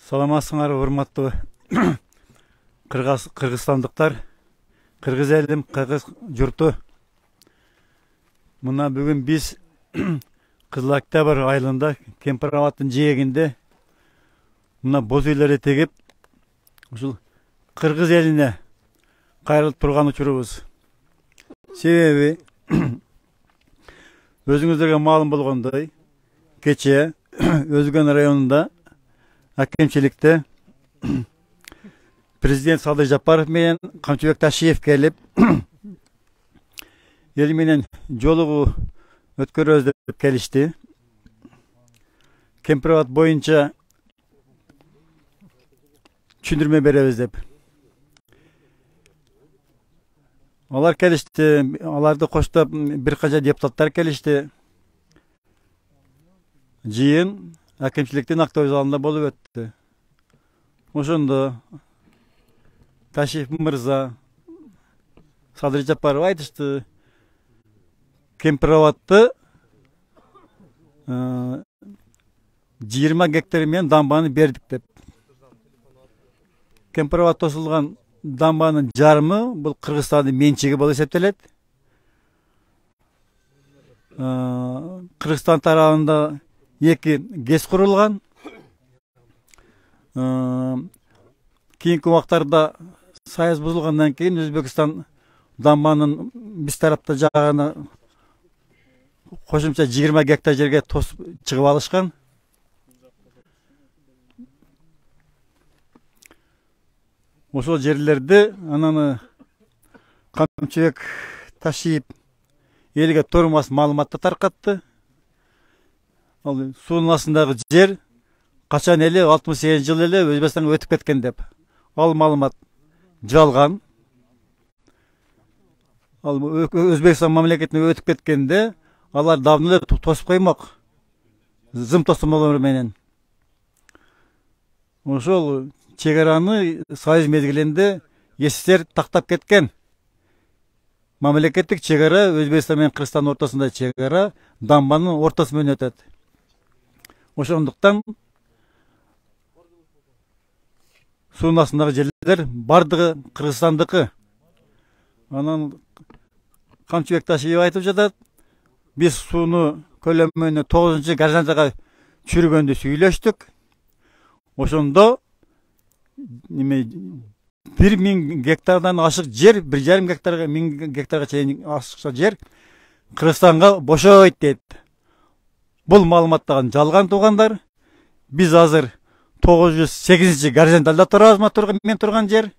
Саламатсыңар, урматтуу кыргызстандыктар, кыргыз элим, кыргыз журту. Мына бүгүн биз Кызыл Октябрь айылында Кемпир Абадтын жээгинде мына боз үйлөрдү тегип, ушул кыргыз элине кайрылып турган учурубуз. Себеби өзүңүздөргө маалым болгондой, кече Өзгөн районунда акимчиликте президент Садыр Жапаров менен Камчыбек Ташиев келип, эл менен жолугуу өткөрөбүз деп келишти. Кемпир Абад боюнча түшүндүрмө беребиз деп. Алар келишти, аларды коштоп бир канча депутаттар келишти. Жыйын акимчиликтин актовый залында болуп өттү. Ошондо Ташиев мырза, Садыр Жапаров айтышты, Кемпир Абадты 20 гектар менен дамбаны бердик деп. Кемпир Абад тосулган дамбанын жарымы бул Кыргызстандын менчиги болуп эсептелет. Кыргызстан тарабында 2 ГЭС курулган. Кийинки убактарда саяз бузулгандан кийин Өзбекстан дамбанын биз тарапта жаганы кошумча 20 гектар жерге тосуп чыгып алышкан. Ошол жерлерди анан Камчыбек Ташиев элге турмас маалыматты таркатты. Ал суунун астындагы жер качан эле 68 жыл эле Өзбекстанга өтүп кеткен деп. Ал маалымат жалган. Ал Өзбекстан мамлекетине өтүп кеткенде алар давно эле тосуп коймок. Зым тосмолор менен. Ошол чегараны союз мезгилинде СССР тактап кеткен. Мамлекеттик чегара Өзбекстан менен Кыргызстандын ортосунда чегара дамбанын ортосу менен өтөт. Ошондуктан суунун астындагы жерлер бардыгы Кыргызстандыкы. Анан Камчыбек Ташиев айтып жатат, биз сууну көлөмүнө 9-чы горизонталга чүргөндү сүйлөштүк. Ошондо 1000 гектардан ашык жер, 1,5 гектарга 1000 гектарга чейин ашыкча жер Кыргызстанга бошойт дейт. Бул маалыматтаган жалган туугандар. Биз азыр 908-чи горизонталда турабыз, мен турган жер.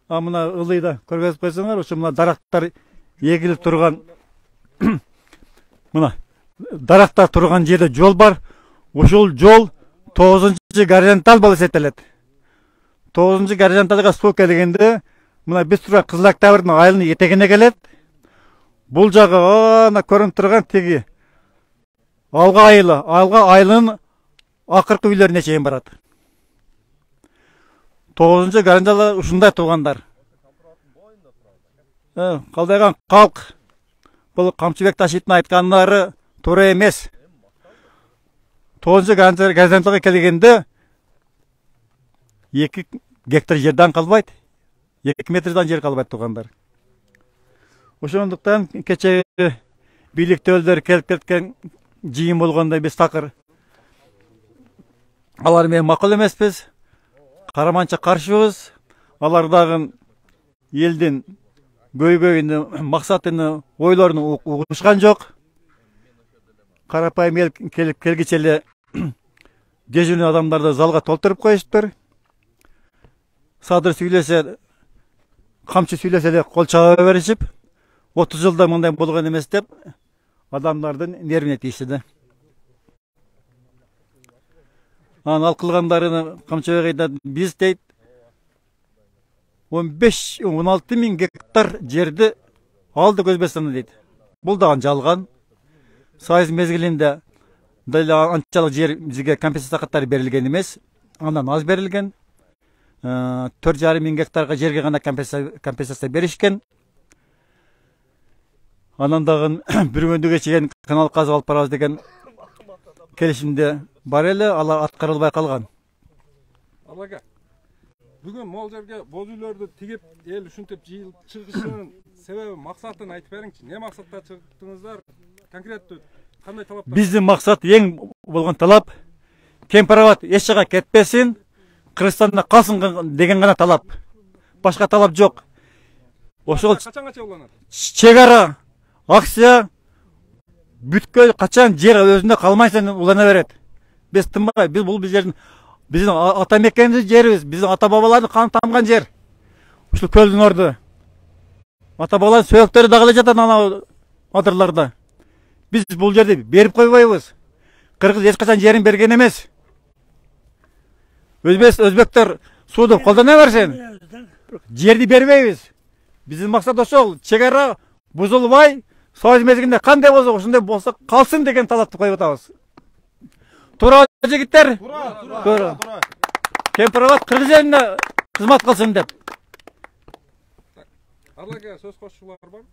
Мына ылыйда көргөзүп койсоңор, ошо мына дарактар эгилип турган мына дарактар турган жерде жол бар. Ошол жол 9-чы горизонтал болуп эсептелет. 9-чы горизонталга суу келгенде мына биз турган Кызыл Октябрдын айылынын этегине келет. Бул жагы ана көрүнүп турган теги Алга айылынын акыркы үйлөрүнө чейин барат. 9-чы горизонтал ушундай туугандар. Калдайган калк. Бул Камчыбек Ташиевдин айткандары туура эмес. 9-чы горизонталга келгенде 2 гектар жерден калбайт. 2 метрден жер калбайт туугандар. Ошондуктан кече бийликтүүлөр келип кеткен жыйын болгондо биз такыр алар менен макул эмеспиз. Караманча каршыбыз. Алар дагы элдин көйгөйүнү, максатыны, ойлоруну угушкан жок. Карапайым эл келгиче эле дежурный адамдарды залга толтуруп коюштур. Садыр сүйлөсө, камчы сүйлөсө эле кол чаба беришип, 30 жылда мындай болгон эмес деп адамдардын нервине тийишти да. Ал кылгандарыны Камчыбек айтат, биз дейт 15-16 миң гектар жерди алдык Өзбекстандан дейт. Бул дагы жалган. Союз мезгилинде деле анчалык жер бизге компенсация каттары берилген эмес. Андан аз берилген. 4,5 миң гектарга жерге гана компенсация беришкен. Анан дагы бир күндүгө чейин канал казып алып барабыз деген келишимде бар эле, алар аткарылбай калган. Алага. Бүгүн могул жерге боз үйлөрдү тигип, эл ушинтип жыйылып чыгышынын себеби, максатын айтып бериңчи. Не максатта чыктыңыздар? Конкреттүү кандай талаптар? Биздин максат эң болгон талап Кемпироват эч жака кетпесин, Кыргызстанда калсын деген гана талап. Башка талап жок. Ошол Качангаcha уланат? чек ара акция бүткөй качан жер өзүндө калмайсың улана берет. Биз тынбай, бул биздин ата мекенибиз жерибиз, биздин ата бабалардын каны тамган жер. Ушул көлдүн орду. Ата бабалардын сөөктөрү дагы эле жатат ана адырларда. Биз бул жерди берип койбойбуз. Кыргыз эч качан жерин берген эмес. Өзбектер сууду колдоно берсин. Жерди бербейбиз. Биздин максат ошол. Чек ара бузулбай, союз мезгилинде кандай болсо ошондой болсо калсын деген талапты коюп атабыз. Туура жигиттер? Туура. Кемпироват Кыргыз элине кызмат кылсын деп. Алага сөз кошчулар барбы?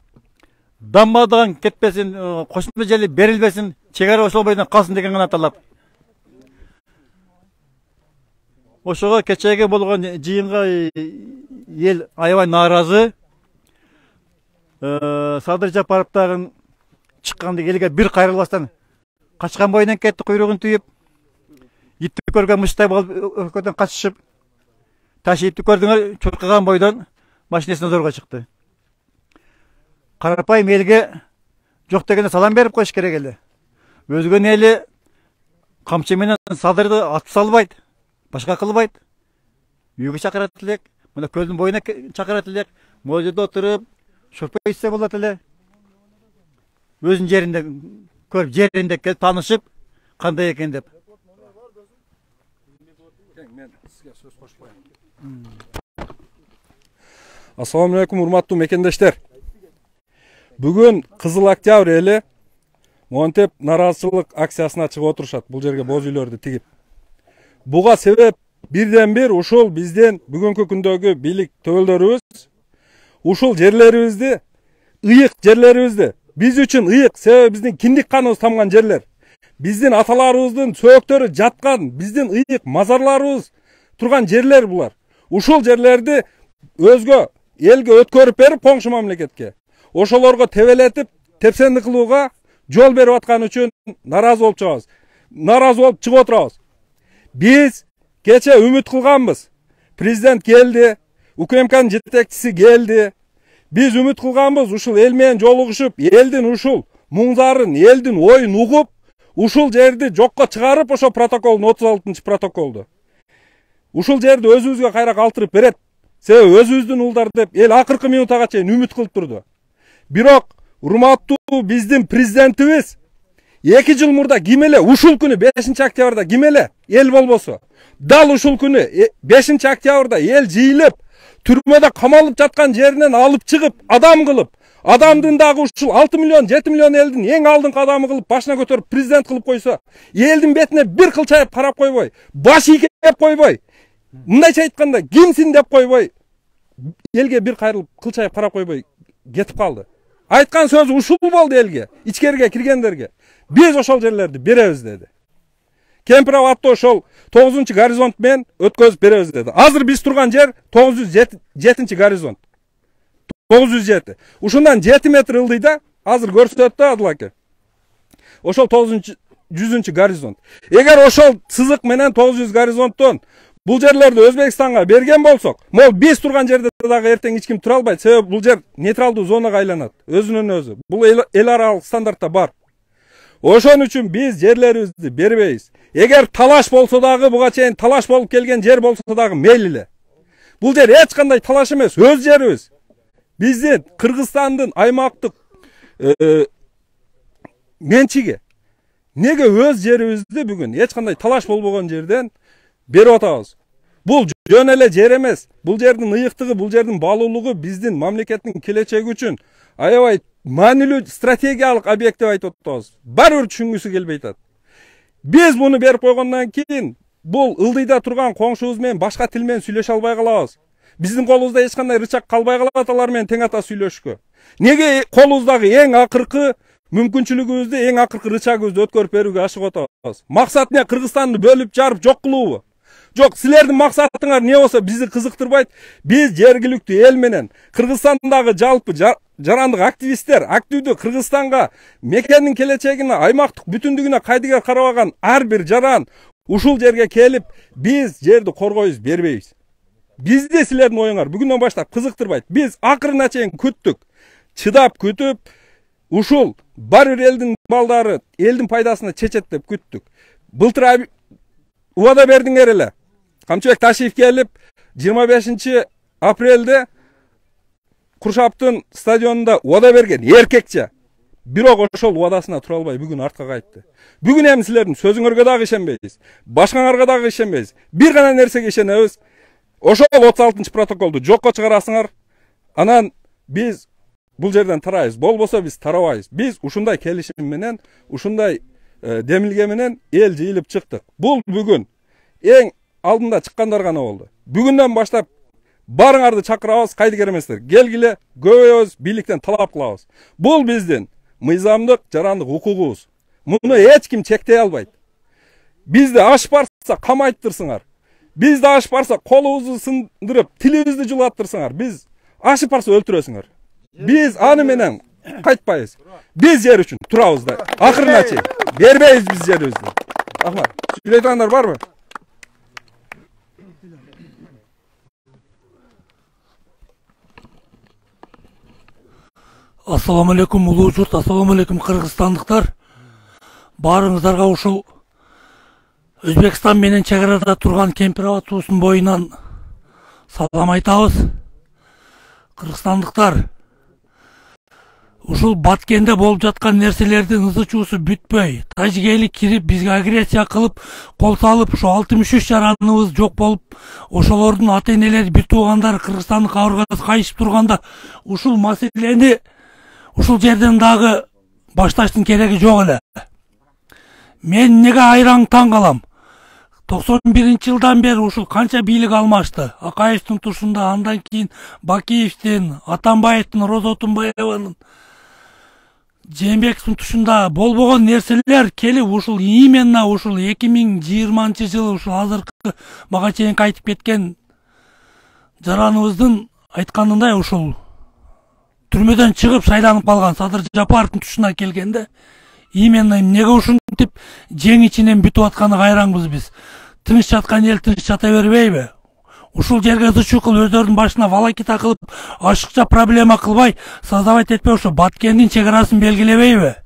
Дамбадан кетпесин, кошумча жери берилбесин, чек ара ошол бойдон калсын деген гана талап. Ошого кечеги болгон жыйынга эл аябай нааразы. Садыр Жапаров дагы чыкканда элге бир кайрылбастан качкан бойунан кетти, куйругун түйүп. Итти көргөн мыштай болуп өлкөдөн качышып, таш итти көрдүңөр, чуркаган бойдон машинесине зорго чыкты. Карапайым элге жок дегенде салам берип коюш керек эле. Өзгөн эли камчы менен садырды атып салбайт, башка кылбайт. Үйгө чакырат элек, мына көлдүн боюна чакырат элек, могул жерде отуруп, шорпо ичсе болот эле. Өзүнүн жеринде көрүп, жеринде келип таанышып, кандай экен деп. Мен сизге сөз кошуп коеюн. Ассаламу алейкум, урматтуу мекендештер. Бүгүн Кызыл Октябрь эли монтеп нараазычылык акциясына чыгып отурушат, бул жерге боз үйлөрдү тигип. Буга себеп бирден бир ушул биздин бүгүнкү күндөгү бийлик төбөлдөрүбүз ушул жерлерибизди, ыйык жерлерибизди, биз үчүн ыйык, себеби биздин киндик каныбыз тамган жерлер. Биздин аталарыбыздын сөөктөрү жаткан, биздин ыйык мазарларыбыз турган жерлер булар. Ушул жерлерди өзгө элге өткөрүп берип, коңшу мамлекетке ошолорго тебелетип, тепсендик кылууга жол берип аткан үчүн наразы болуп чыгабыз. Наразы болуп чыгып отурабыз. Биз кече үмүт кылганбыз. Президент келди, УКМКнын жетекчиси келди. Биз үмүт кылганбыз, ушул эл менен жолугушуп, элдин ушул муңзарын, элдин оюн угуп, ушул жерди жокко чыгарып, ошо протоколдун 36-протоколду. Ушул жерди өзүбүзгө кайра калтырып берет. Себеби өзүбүздүн уулдар деп эл акыркы минутага чейин үмүт кылып турду. Бирок урматтуу биздин президентибиз 2 жыл мурда ким эле ушул күнү 5-октябрда ким эле эл болбосо, дал ушул күнү 5-октябрда эл жыйылып, түрмөдө камалып жаткан жеринен алып чыгып, адам кылып, адамдын дагы ушул 6 миллион, 7 миллион элдин эң алдыңкы адамы кылып, башына көтөрүп президент кылып койсо, элдин бетине бир кылчайып карап койбой, баш ийкеп койбой, мындайча айтканда, кимсиң деп койбой, элге бир кайрылып кылчайып карап койбой кетип калды. Айткан сөзү ушул болду элге, ичкерге киргендерге. Биз ошол жерлерди беребиз деди. Кемпироватты ошол 9-горизонт менен өткөзүп беребиз деди. Азыр биз турган жер 907-горизонт. 907. Ушундан 7 метр ылдыйда, азыр көрсөтөт да Адыл аке. Ошол 900-горизонт. Эгер ошол сызык менен 900 горизонттон бул жерлерди Өзбекстанга берген болсок, могул биз турган жерде дагы эртең эч ким тура албайт. Себеби бул жер нейтралдуу зонага айланат, өзүнөн өзү. Бул эл аралык стандартта бар. Ошон үчүн биз жерлерибизди бербейбиз. Эгер талаш болсо дагы, буга чейин талаш болуп келген жер болсо дагы мейли эле. Бул жер эч кандай талаш эмес, өз жерибиз. Биздин Кыргызстандын аймактык менчиги. Неге өз жерибизди бүгүн эч кандай талаш болбогон жерден берип атабыз? Бул жөн эле жер эмес. Бул жердин ыйыктыгы, бул жердин балуулугу биздин мамлекеттин келечеги үчүн аябай маанилүү стратегиялык объект деп айтып атабыз. Баары бир түшүнгүсү келбей атат. Биз буну берип койгондон кийин бул ылдыйда турган коңшубуз менен башка тил менен сүйлөшө албай калабыз. Биздин колубузда эч кандай рычаг калбай калат алар менен тең ата сүйлөшкө. Неге колубуздагы эң акыркы мүмкүнчүлүгүбүздү, эң акыркы рычагыбызды өткөрүп берүүгө ашыгып атабыз? Максат эмне? Кыргызстанды бөлүп жарып жок кылуубу? Жок, силердин максатыңар эмне болсо бизди кызыктырбайт. Биз жергиликтүү эл менен Кыргызстандагы жалпы жарандык активисттер активдүү Кыргызстанга мекендин келечегине, аймактык бүтүндүгүнө кайдыгер карабаган ар бир жаран ушул жерге келип, биз жерди коргойбуз, бербейбиз. Бизди силердин оюңар бүгүндөн баштап кызыктырбайт. Биз акырына чейин күттүк. Чыдап күтүп, ушул бар бир элдин балдары элдин пайдасына чечет деп күттүк. Былтыр убада бердиңер эле. Камчыбек Ташиев келип 25 апрелде Куршаптын стадионунда убада берген эркекче. Бирок ошол убадасына тура албай бүгүн артка кайтты. Бүгүн эми силердин сөзүңөргө дагы ишенбейбиз. Башкаңарга дагы ишенбейбиз. Бир гана нерсеге ишенебиз. Ошол 36-протоколду жокко чыгарасыңар. Анан биз бул жерден тарайбыз. Болбосо биз тарабайбыз. Биз ушундай келишим менен, ушундай демилге менен эл жыйылып чыктык. Бул бүгүн эң алдында чыккандар гана болду. Бүгүндөн баштап барыңарды чакырабыз, кайдыгер эместер. Келгиле, көбөйөбүз, бийликтен талап кылабыз. Бул биздин мыйзамдык, жарандык укугубуз. Муну эч ким чектей албайт. Бизди аш барса камайттырсыңар. Бизди аш барса колубузду сындырып, тилибизди жулаттырсыңар. Биз ашып барса өлтүрөсүңөр. Биз аны менен кайтпайбыз. Биз жер үчүн турабыз да. Акырына чейин бербейбиз биз жерибизди. Рахмат. Сүйлөй тургандар барбы? Ассаламу алейкум улуу журт, ассаламу алейкум кыргызстандыктар. Баарыңыздарга ушул Өзбекстан менен чек арада турган Кемпир аба суусунун боюнан салам айтабыз. Кыргызстандыктар, ушул Баткенде болуп жаткан нерселердин ызы чуусу бүтпөй, тажигели кирип бизге агрессия кылып, кол салып, ушу 63 жараныбыз жок болуп, ошолордун ата-энелери, бир туугандары Кыргызстандын кабыргасы кайышып турганда, ушул маселени ушул жерден дагы башташтын кереги жок эле. Мен эмнеге айраң таң калам? 91-жылдан бери ушул канча бийлик алмашты. Акаевдин тушунда, андан кийин Бакиевдин, Атамбаевдин, Роза Отунбаеванын, Жээнбековдун тушунда болбогон нерселер келип ушул именно ушул 2020-жылы ушул азыркы мага чейин кайтып кеткен жараныбыздын айтканындай ушул түрмөдөн чыгып шайланып калган Садыр Жапаровдун тушуна келгенде именно эмнеге ушинтип жең ичинен бүтүп атканы кайраңбыз биз. Тыныч жаткан эл тыныч жата бербейби? Ушул жерге ызы кылып өздөрүнүн башына волокита кылып, ашыкча проблема кылбай, создавать этпей ошо Баткендин чек арасын белгилебейби?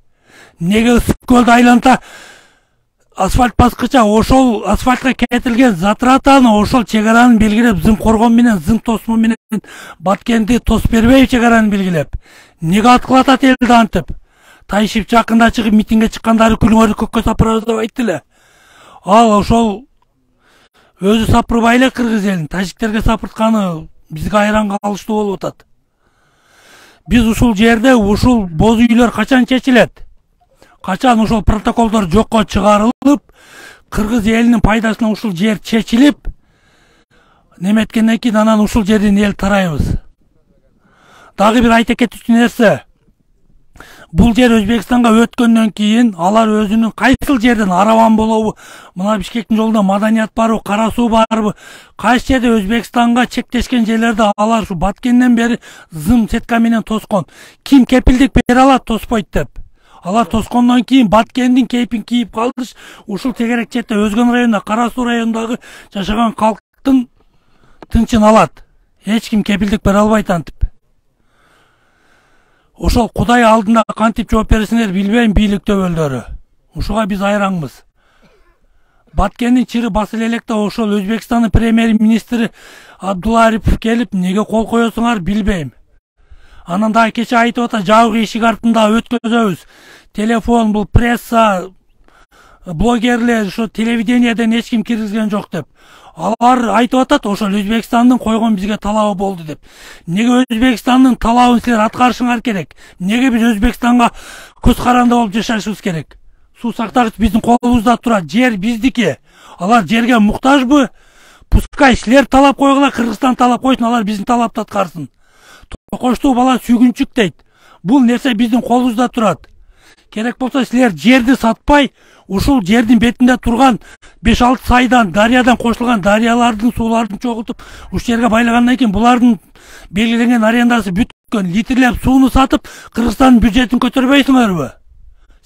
Неге Ысык көлдү айланта асфальт баскыча ошол асфальтка кетилген затратаны ошол чек араны белгилеп, зым коргон менен, зым тосмо менен Баткенди тосуп бербейби чек араны белгилеп? Неге аткылатат элди антип? Тайшип жакында чыгып митингге чыккандары күлүңөрдү көккө сапырабыз деп айтты эле. Ал ошол өзү сапырбай эле кыргыз элин тажиктерге сапыртканы бизге айран калыштуу болуп атат. Биз ушул жерде ушул боз үйлөр качан чечилет? Качан ушул протоколдор жокко чыгарылып, кыргыз элинин пайдасына ушул жер чечилип, неметкенден кийин анан ушул жерден эл тарайбыз. Дагы бир айта кетчү нерсе. Бул жер Өзбекстанга өткөндөн кийин алар өзүнүн кайсыл жерден Араван болобу, мына Бишкектин жолунда Маданият барбы, Кара суу барбы, кайсы жерде Өзбекстанга чектешкен жерлерди алар ушу Баткенден бери зым сетка менен тоскон. Ким кепилдик бере алат тоспойт деп. Алар тоскондон кийин Баткендин кейпин кийип калдыш, ушул тегерек четте Өзгөн районунда, Кара суу районундагы жашаган калктын тынчын алат. Эч ким кепилдик бере албайт антип. Ошол Кудай алдында кантип жооп бересиңер билбейм бийлик төбөлдөрү. Ушуга биз айраңбыз. Баткендин чыры басыла электе ошол Өзбекстандын премьер-министри Абдулла Арипов келип, неге кол коесуңар билбейм. Анан дагы кече айтып атат, жабык эшик артында өткөзөбүз. Телефон, бул пресса, блогерлер, ошо телевидениеден эч ким киргизген жок деп. Алар айтып атат, ошол Өзбекстандын койгон бизге талабы болду деп. Неге Өзбекстандын талабын силер аткарышыңар керек? Неге биз Өзбекстанга көз каранды болуп жашашыбыз керек? Суу сактагыч биздин колубузда турат, жер биздики. Алар жерге муктажбы? Пускай силер талап койгула, Кыргызстан талап койсун, алар биздин талапты аткарсын. Токоштуу бала сүйгүнчүк дейт. Бул нерсе биздин колубузда турат. керек болсо силер жерди сатпай, ушул жердин бетинде турган 5-6 сайдан, дарыядан кошулган дарыялардын сууларын чогултуп, ушул жерге байлагандан кийин булардын белгиленген арендасы бүткөн литрлеп сууну сатып, Кыргызстандын бюджетин көтөрбөйсүңөрбү?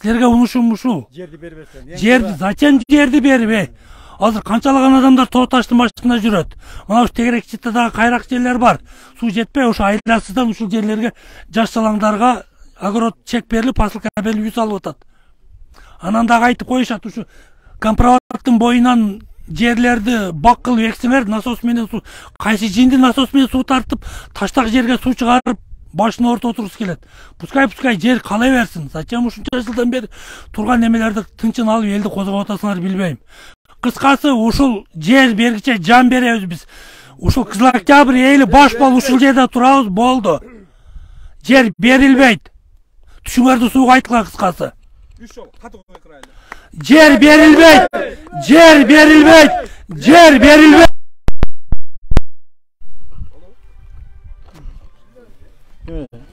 Силерге унушум ушул. Жерди бербестен. Жерди, зачем жерди берип? Азыр канчалаган адамдар тоо таштын башында жүрөт. Мына ушу тегерек читтадагы кайрак жерлер бар. Суу жетпей, ошо айласыздан ушул жерлерге жаш салаңдарга огород чек берилип, посылка берилип үй салып атат. Анан дагы айтып коюшат, ушу компроматтын боюнан жерлерди бак кылып эксеңер, насос менен суу, кайсы жинди насос менен суу тартып, таштак жерге суу чыгарып, башына орто отургусу келет. Пускай жер калай берсин. Зачем ушунча жылдан бери турган немелерди тынчын алып элди козгоп атасыңар билбейм. Кыскасы, ушул жер бергиче жан беребиз биз. Ушул Кызыл Октябрь эли баш болуп ушул жерде турабыз, болду. Жер берилбейт. Түшүңөрдү сууга айткыла кыскасы. Жер берилбейт. Жер берилбейт. Жер берилбейт.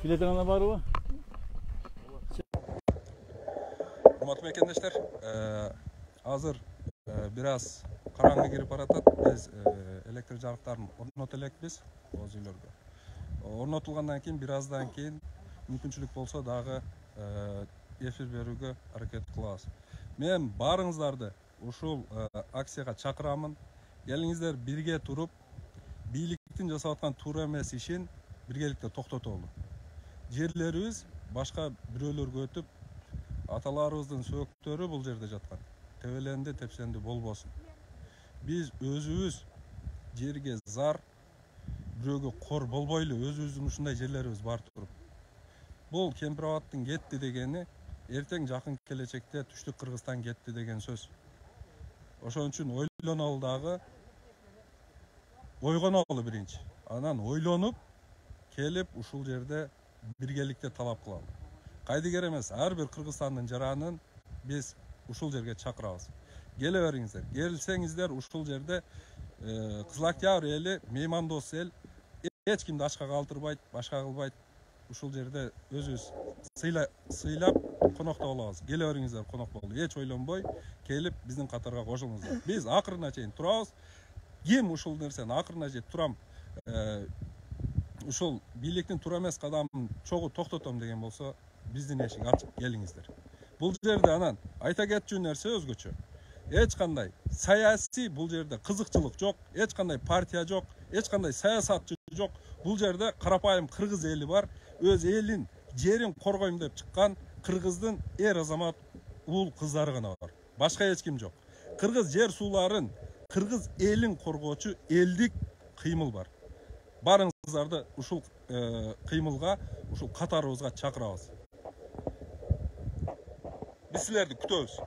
Билетиңер барбы? Урматтуу мекендештер, азыр бир аз караңгы кирип баратат. Биз электр жарыктарын орното элекпиз өз үйлөргө. Орнотулгандан кийин бир аздан кийин мүмкүнчүлүк болсо дагы эфир берүүгө аракет кылабыз. Мен баарыңыздарды ушул акцияга чакырамын. Келиңиздер бирге туруп, бийликтин жасап аткан туура эмес ишин биргеликте токтотолу. Жерлерибиз башка бирөөлөргө өтүп, аталарыбыздын сөөктөрү бул жерде жаткан. Тебеленди, тепсенди болбосун. Биз өзүбүз жерге зар, бирөөгө кор болбойлу, өзүбүздүн ушундай жерлерибиз бар туруп. Бул Кемпир-Абадтын кетти дегени, эртең жакын келечекте Түштүк Кыргызстан кетти деген сөз. Ошон үчүн ойлонолу дагы, ойгонолу биринчи. Анан ойлонуп, келип ушул жерде биргеликте талап кылалы. Кайдыгер эмес, ар бир Кыргызстандын жаранын биз ушул жерге чакырабыз. Келе бериңиздер. Келсеңиздер ушул жерде Кызыл Октябрь эли меймандос эл, эч кимди ачка калтырбайт, башка кылбайт. Ушул жерде өзүбүз сыйлап конокто болобуз. Келе бериңиздер, конок болду. Эч ойлонбой келип биздин катарга кошулуңуздар. Биз акырына чейин турабыз. Ким ушул нерсени акырына чейин турам, ушул бийликтин туура эмес кадамын чогуу токтотом деген болсо, биздин эшик ачык, келиңиздер. Бул жерде анан айта кетчү нерсе өзгөчө. Эч кандай саясий бул жерде кызыкчылык жок, эч кандай партия жок, эч кандай саясатчы жок. Бул жерде карапайым кыргыз эли бар, өз элин, жерин коргойм деп чыккан кыргыздын эр азамат уул кыздары гана бар. Башка эч ким жок. Кыргыз жер сууларын, кыргыз элин коргоочу элдик кыймыл бар. Барыңыздарды ушул кыймылга, ушул катарыбызга чакырабыз. Биз силерди күтөбүз.